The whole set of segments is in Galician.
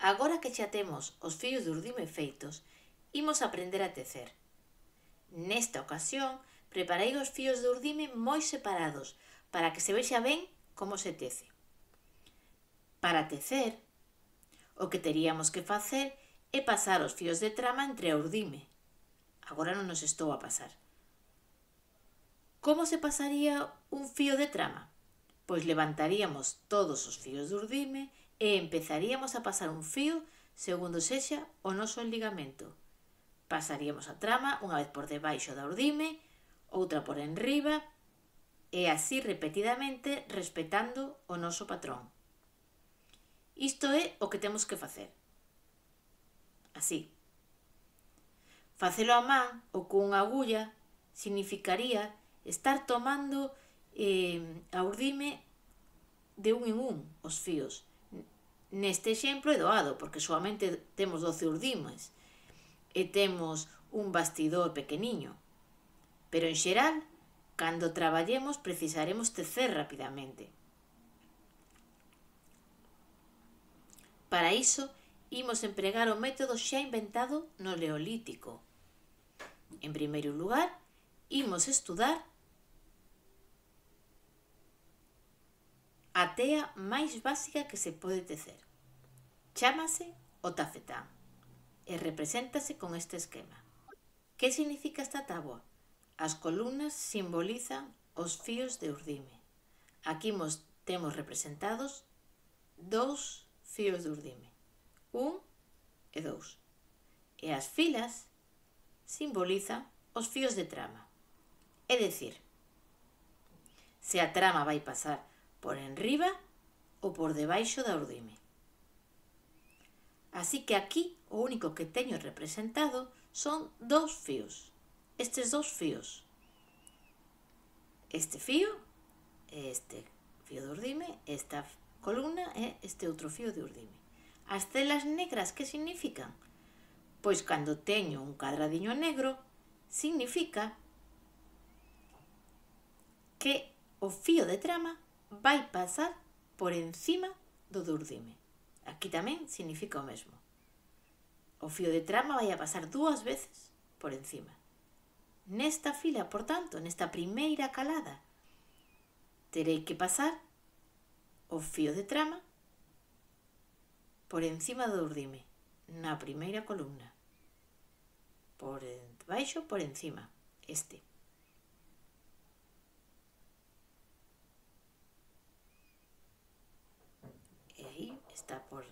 Agora que xa temos os fios de urdime feitos, imos aprender a tecer. Nesta ocasión, preparei os fios de urdime moi separados para que se vexa ben como se tece. Para tecer, o que teríamos que facer é pasar os fios de trama entre a urdime. Agora non nos estou a pasar. Como se pasaría un fío de trama? Pois levantaríamos todos os fíos de urdime e empezaríamos a pasar un fío segundo sexa o noso ligamento. Pasaríamos a trama unha vez por debaixo da urdime, outra por enriba e así repetidamente respetando o noso patrón. Isto é o que temos que facer. Así. Facelo a man ou cunha agulla significaría estar tomando a urdime de un en un os fíos. Neste exemplo é doado porque solamente temos 12 urdimes e temos un bastidor pequeniño. Pero en xeral, cando traballemos precisaremos tecer rapidamente. Para iso, imos empregar o método xa inventado no Neolítico. En primeiro lugar, imos estudar a tea máis básica que se pode tecer. Chámase o tafetán e represéntase con este esquema. Que significa esta táboa? As columnas simbolizan os fíos de urdime. Aquí temos representados 2 fíos de urdime, 1 e 2. E as filas simbolizan os fíos de trama. É dicir, se a trama vai pasar por enriba ou por debaixo da urdime. Así que aquí o único que teño representado son 2 fíos. Estes 2 fíos. Este fío e este fío de urdime, esta columna e este outro fío de urdime. As celas negras que significan? Pois cando teño un cadradiño negro, significa que o fío de trama vai pasar por encima do de urdime. Aquí tamén significa o mesmo. O fío de trama vai a pasar 2 veces por encima. Nesta fila, por tanto, nesta primeira calada, terei que pasar o fío de trama por encima do urdime, na primeira columna. Por debaixo, por encima, este. E aí está por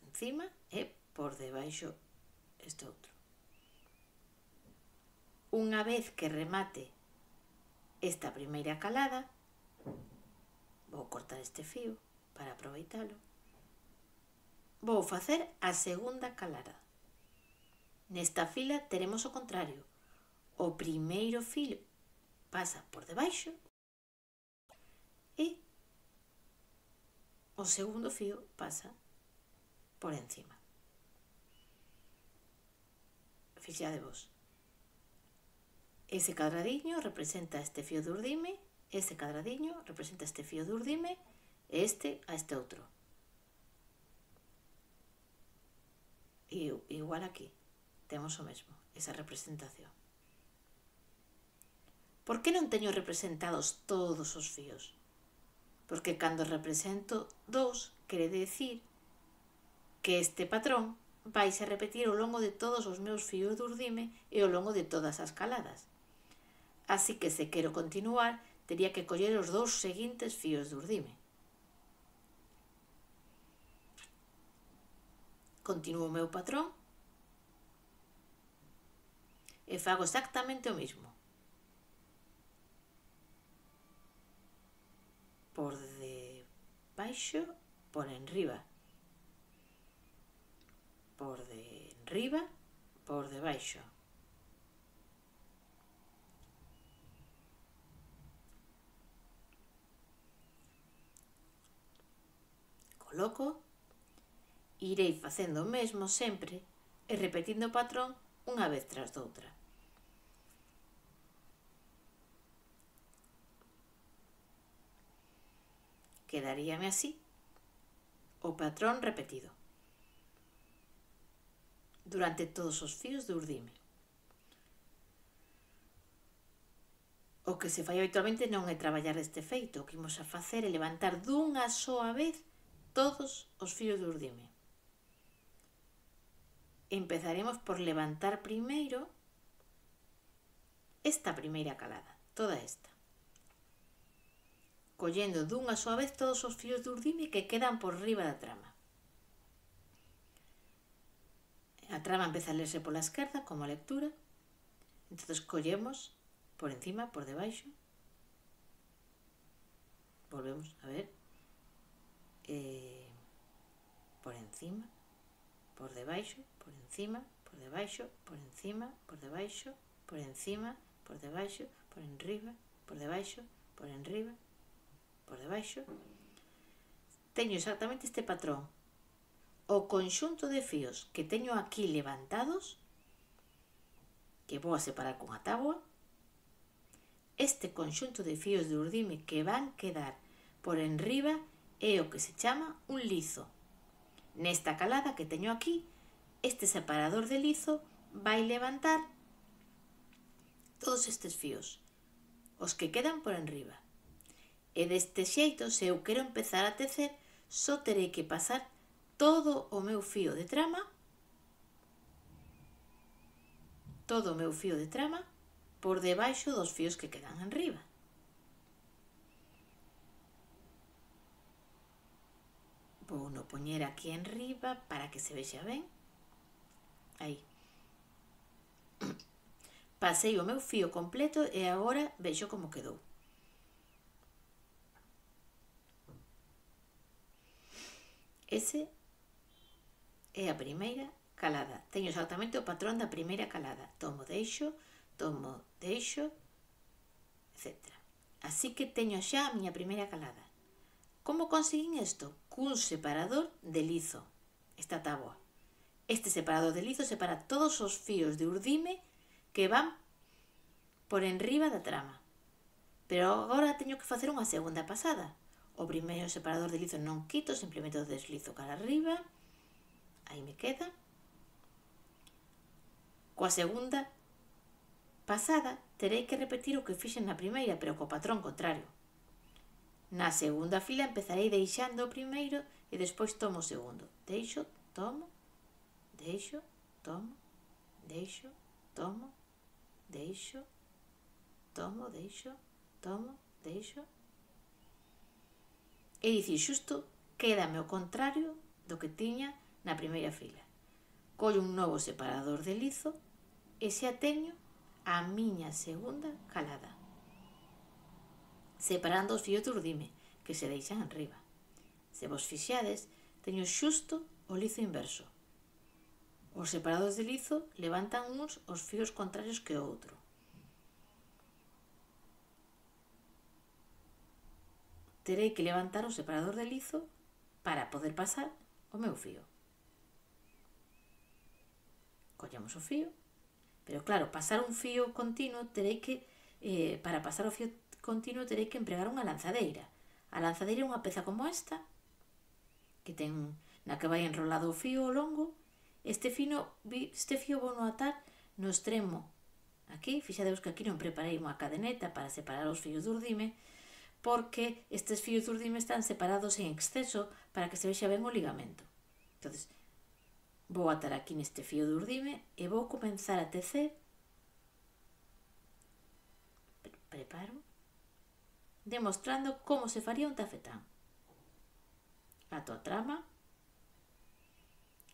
encima e por debaixo este outro. Unha vez que remate esta primeira calada, vou cortar este fío para aproveitalo. Vou facer a segunda calada. Nesta fila teremos o contrario. O primeiro fío pasa por debaixo e o segundo fío pasa por encima. Fixadevos. Ese cadradiño representa este fío de urdime, ese cadradiño representa este fío de urdime e este a este outro. E igual aquí, temos o mesmo, esa representación. Por que non teño representados todos os fíos? Porque cando represento 2, quere decir que este patrón vaise a repetir ao longo de todos os meus fíos de urdime e ao longo de todas as caladas. Así que se quero continuar, tería que coller os 2 seguintes fíos de urdime. Continuo o meu patrón e fago exactamente o mismo. Por debaixo, por enriba. Por de enriba, por debaixo. Coloco, irei facendo o mesmo sempre e repetindo o patrón unha vez tras doutra. Quedaríame así o patrón repetido. durante todos os fíos de urdime. O que se fai habitualmente non é traballar deste feito. O que imos a facer é levantar dunha soa vez todos os fíos de urdime. Empezaremos por levantar primeiro esta primeira calada, toda esta. Collendo dunha soa vez todos os fíos de urdime que quedan por riba da trama. A trama empeza a lerse pola esquerda como a lectura. Entón collemos por encima, por debaixo. Volvemos a ver. Por encima, por debaixo, por encima, por debaixo, por encima, por debaixo, por encima, por debaixo, por enriba, por debaixo, por enriba, por debaixo. Teño exactamente este patrón. O conxunto de fíos que teño aquí levantados, que vou a separar con a táboa, este conxunto de fíos de urdime que van quedar por enriba é o que se chama un lizo. Nesta calada que teño aquí, este separador de lizo vai levantar todos estes fíos, os que quedan por enriba. E deste xeito, se eu quero empezar a tecer, só terei que pasar todo o meu fío de trama, por debaixo dos fíos que quedan enriba. Vou no poñer aquí enriba para que se vexa ben. Aí. Pasei o meu fío completo e agora vexo como quedou. Ese é a primeira calada. Teño exactamente o patrón da primeira calada. Tomo, deixo, etc. Así que teño xa a miña primeira calada. Como conseguín isto? Cun separador de lizo. Esta táboa. Este separador de lizo separa todos os fíos de urdime que van por enriba da trama. Pero agora teño que facer unha segunda pasada. O primeiro separador de lizo non quito, simplemente o deslizo cara arriba. Aí me queda. Coa segunda pasada terei que repetir o que fixen na primeira, pero co patrón contrario. Na segunda fila empezarei deixando o primeiro e despois tomo o segundo. Deixo, tomo, deixo, tomo, deixo, tomo, deixo, tomo, deixo, tomo, deixo. É dicir, xusto quédame o contrario do que tiña na primeira fila. Collo un novo separador de lizo e xa teño a miña segunda calada, separando os fíos de urdime que se deixan enriba. Se vos fixades, teño xusto o lizo inverso. Os separadores de lizo levantan uns os fíos contrarios que o outro. Terei que levantar o separador de lizo para poder pasar o meu fío. Collemos o fío, pero claro, pasar un fío continuo para pasar o fío continuo terei que empregar unha lanzadeira. A lanzadeira é unha peza como esta, que ten na que vai enrolado o fío ao longo. Este fío vou no atar no extremo aquí. Fixadeus que aquí non preparei unha cadeneta para separar os fíos de urdime, porque estes fíos de urdime están separados en exceso para que se vexa ben o ligamento. Entón, vou atar aquí neste fío de urdime e vou comenzar a tecer. Preparo, demostrando como se faría un tafetán. Ato a trama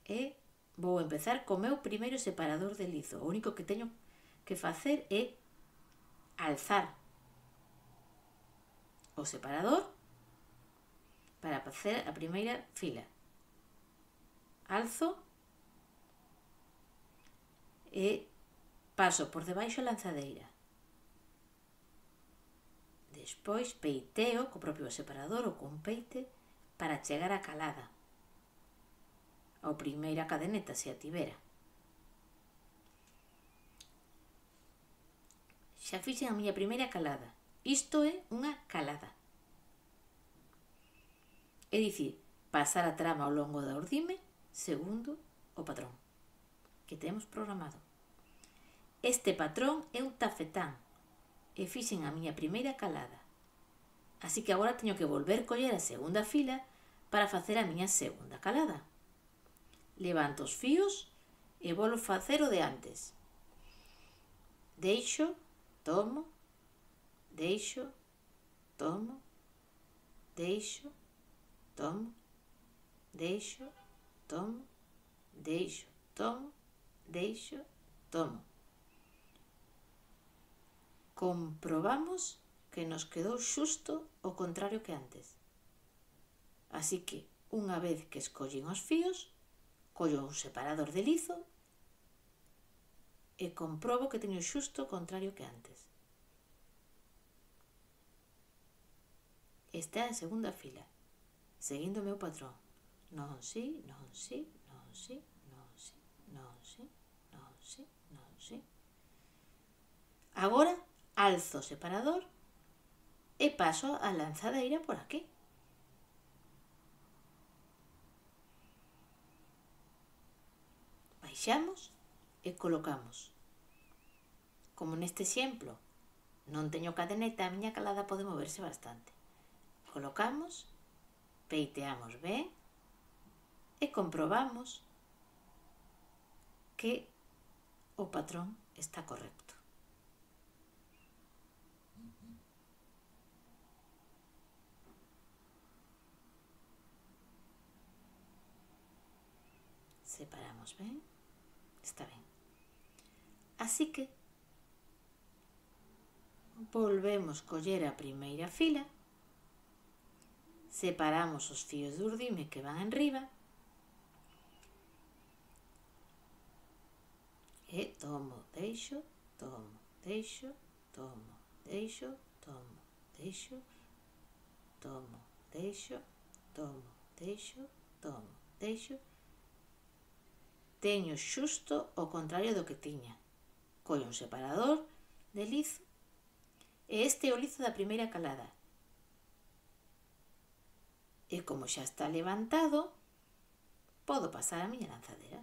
e vou empezar co meu primeiro separador de lizo. O único que teño que facer é alzar o separador para facer a primeira fila. Alzo e paso por debaixo a lanzadeira. Despois peiteo co propio separador ou con peite para chegar á calada, ou primeira cadeneta se a tivera. Xa fixen a miña primeira calada. Isto é unha calada. É dicir, pasar a trama ao longo da urdime segundo o patrón. que temos programado. Este patrón é un tafetán e fixen a miña primeira calada. Así que agora teño que volver coller a segunda fila para facer a miña segunda calada. Levanto os fíos e volvo facer o de antes. Deixo, tomo, deixo, tomo, deixo, tomo, deixo, tomo, deixo, tomo, deixo, tomo. Comprobamos que nos quedou xusto o contrario que antes. Así que, unha vez que escollín os fíos, collo un separador de lizo e comprobo que teño xusto o contrario que antes. Esta é a segunda fila, seguindo o meu patrón. Non si, non si, non si, non si, non si, non si, non si. Agora alzo o separador e paso a lanzadeira por aquí. Baixamos e colocamos. Como neste exemplo non teño cadeneta, a miña calada pode moverse bastante. Colocamos, peiteamos ben e comprobamos que o patrón está correcto. Separamos ben, está ben. Así que volvemos coller a primeira fila, separamos os fíos de urdime que van enriba e tomo, deixo, tomo, deixo, tomo, deixo, tomo, deixo, tomo, deixo, tomo, deixo, tomo, deixo. Teño xusto o contrario do que tiña. Collo un separador de lizo e este é o lizo da primeira calada. E como xa está levantado, podo pasar a miña lanzadera.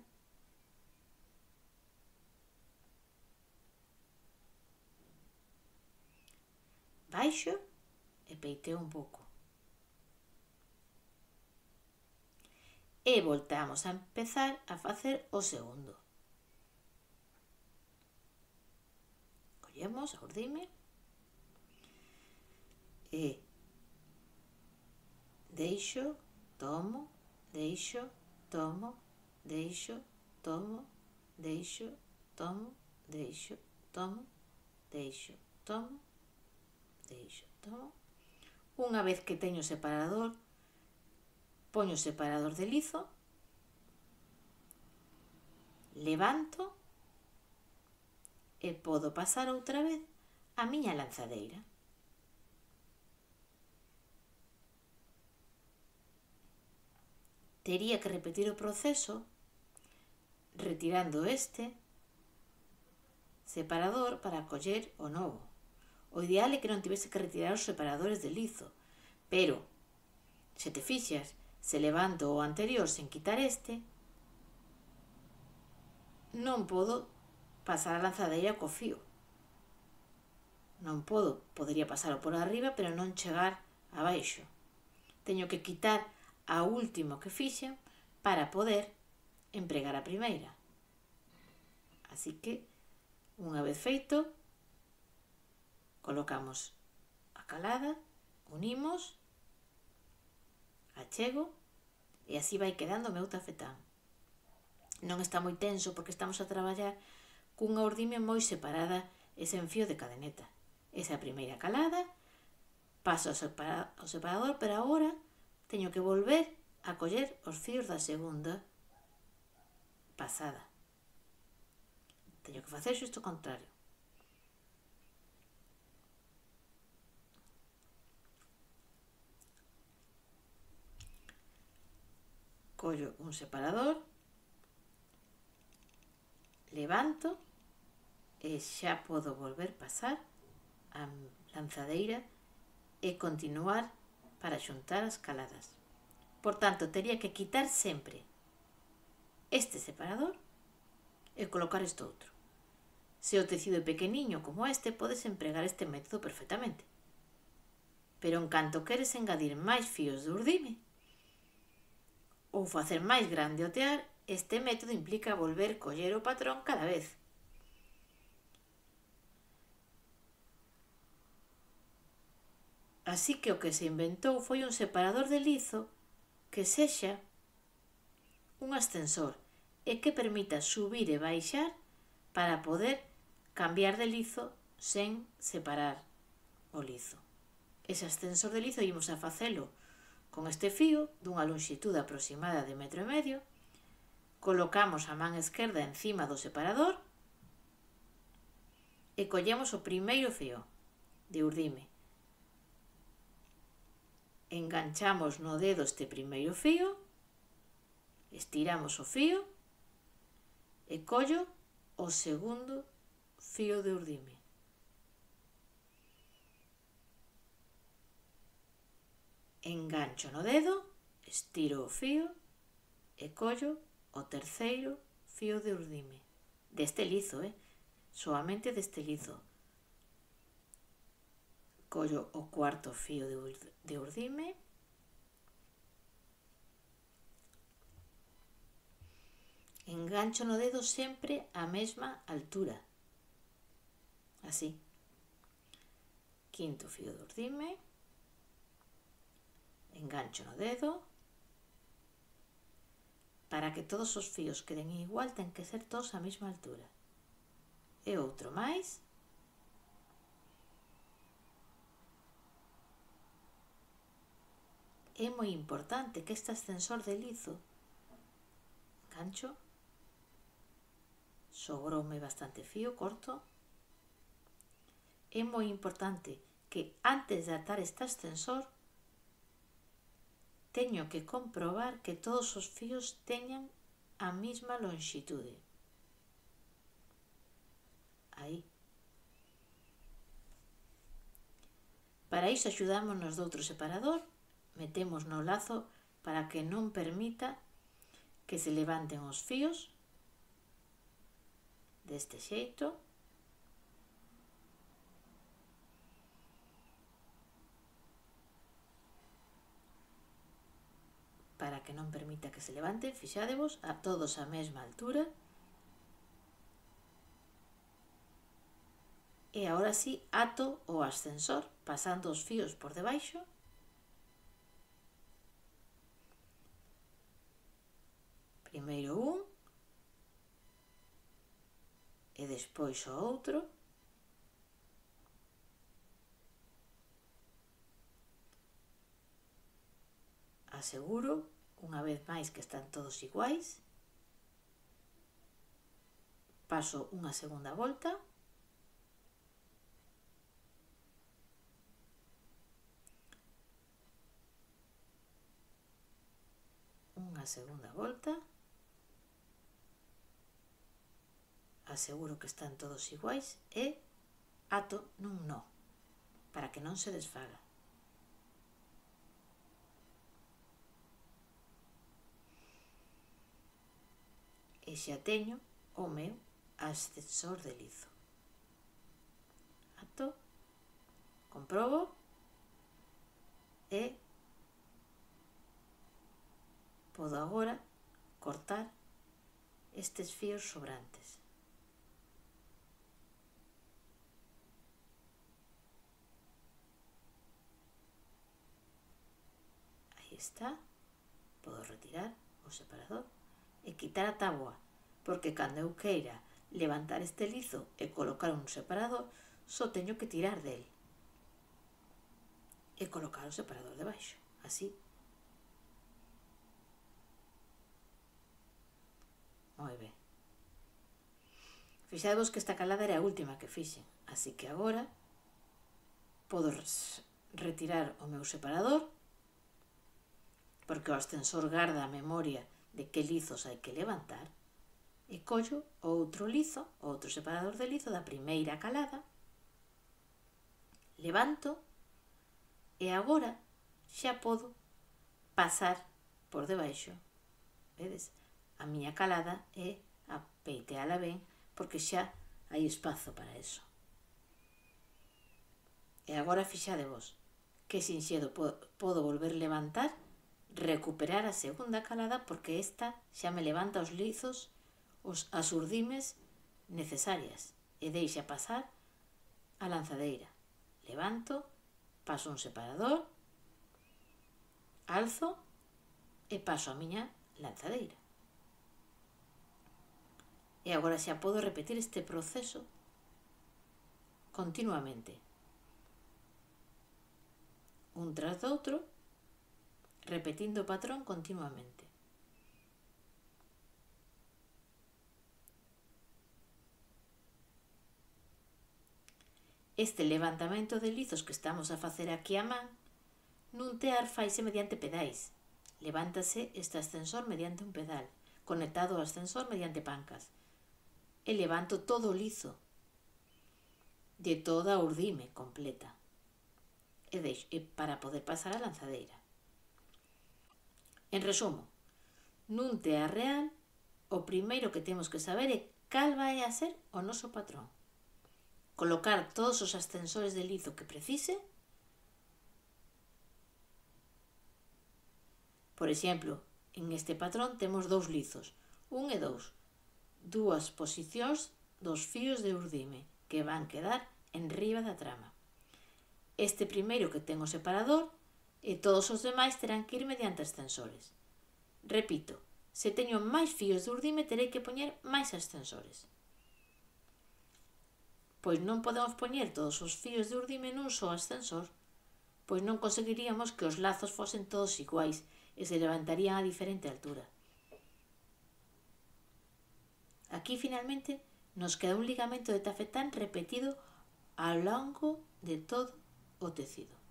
Baixo e peiteo un pouco. E voltamos a empezar a facer o segundo. Collemos a urdime e deixo, tomo, deixo, tomo, deixo, tomo, deixo, tomo, deixo, tomo, deixo, tomo, deixo, tomo. Unha vez que teño o separador, poño o separador de lizo, levanto e podo pasar outra vez a miña lanzadeira. Tería que repetir o proceso retirando este separador para coller o novo. O ideal é que non tivese que retirar os separadores de lizo, pero, se te fixas, se levanto o anterior sen quitar este, non podo pasar a lanzadeira co fío. Non podo, podería pasar por arriba, pero non chegar abaixo. Teño que quitar a último que fixen para poder empregar a primeira. Así que, unha vez feito, colocamos a calada, unimos, achego e así vai quedando o meu tafetán. Non está moi tenso porque estamos a traballar cunha urdime moi separada e sen fío de cadeneta. Esa é a primeira calada, paso ao separador, pero agora teño que volver a coller os fíos da segunda pasada. Teño que facer xusto o contrario. Collo un separador, levanto e xa podo volver pasar a lanzadeira e continuar para xuntar as caladas. Por tanto, tería que quitar sempre este separador e colocar este outro. Se o tecido é pequeniño como este, podes empregar este método perfectamente. Pero en canto queres engadir máis fíos de urdime ou facer máis grande o tear, este método implica volver coller o patrón cada vez. Así que o que se inventou foi un separador de lizo que sexa un ascensor e que permita subir e baixar para poder cambiar de lizo sen separar o lizo. Ese ascensor de lizo ímos a facelo con este fío dunha lonxitude aproximada de 1,5 metros, colocamos a man esquerda encima do separador e collemos o primeiro fío de urdime. Enganchamos no dedo este primeiro fío, estiramos o fío e collo o segundo fío de urdime. Engancho no dedo, estiro o fío e collo o terceiro fío de urdime. Deste lizo, soamente deste lizo. Collo o cuarto fío de urdime, engancho no dedo sempre á mesma altura, así. Quinto fío de urdime, engancho no dedo. Para que todos os fíos queden igual, ten que ser todos á mesma altura. E outro máis. É moi importante que este ascensor de lizo, engancho, sobroume bastante fío, corto. É moi importante que antes de atar este ascensor teño que comprobar que todos os fíos teñan a mesma lonxitude. Aí. Para iso axudámonos de outro separador, metemos no lazo para que non permita que se levanten os fíos, deste xeito. Para que non permita que se levanten, fixádevos, a todos a mesma altura. E agora sí, ato o ascensor, pasando os fíos por debaixo. Primeiro un, e despois o outro. Aseguro, unha vez máis, que están todos iguais. Paso unha segunda volta. Unha segunda volta. Aseguro que están todos iguais e ato nun nó, para que non se desfaga. E xa teño o meu ascensor de lizo. Ato, comprobo e podo agora cortar estes fíos sobrantes. Aí está. Podo retirar o separador e quitar a táboa, porque cando eu queira levantar este lizo e colocar un separador, só teño que tirar del e colocar o separador debaixo, así. Moi ben. Fixadevos que esta calada era a última que fixen, así que agora podo retirar o meu separador, porque o ascensor garda a memoria de que lizos hai que levantar, e collo o outro lizo, o outro separador de lizo da primeira calada, levanto e agora xa podo pasar por debaixo. Vedes? A miña calada é a peiteala ben, porque xa hai espazo para eso. E agora fixadevos que sinxedo podo volver levantar, recuperar a segunda calada, porque esta xa me levanta os lizos, as urdimes necesarias, e deixa pasar a lanzadeira. Levanto, paso un separador, alzo e paso a miña lanzadeira. E agora xa podo repetir este proceso continuamente, un tras do outro, repetindo o patrón continuamente. Este levantamento de lizos que estamos a facer aquí a man nun tear faise mediante pedais. Levántase este ascensor mediante un pedal, conectado ao ascensor mediante pancas. E levanto todo o lizo, de toda a urdime completa, e para poder pasar a lanzadeira. En resumo, nun tear real, o primeiro que temos que saber é cal vai a ser o noso patrón. Colocar todos os ascensores de lizo que precise. Por exemplo, en este patrón temos 2 lizos, 1 e 2, 2 posicións dos fíos de urdime que van quedar en riba da trama. Este primeiro que ten o separador e todos os demais terán que ir mediante ascensores. Repito, se teño máis fíos de urdime terei que poñer máis ascensores. Pois non podemos poñer todos os fíos de urdime nun só ascensor, pois non conseguiríamos que os lazos fosen todos iguais e se levantarían a diferente altura. Aquí finalmente nos queda un ligamento de tafetán repetido ao longo de todo o tecido.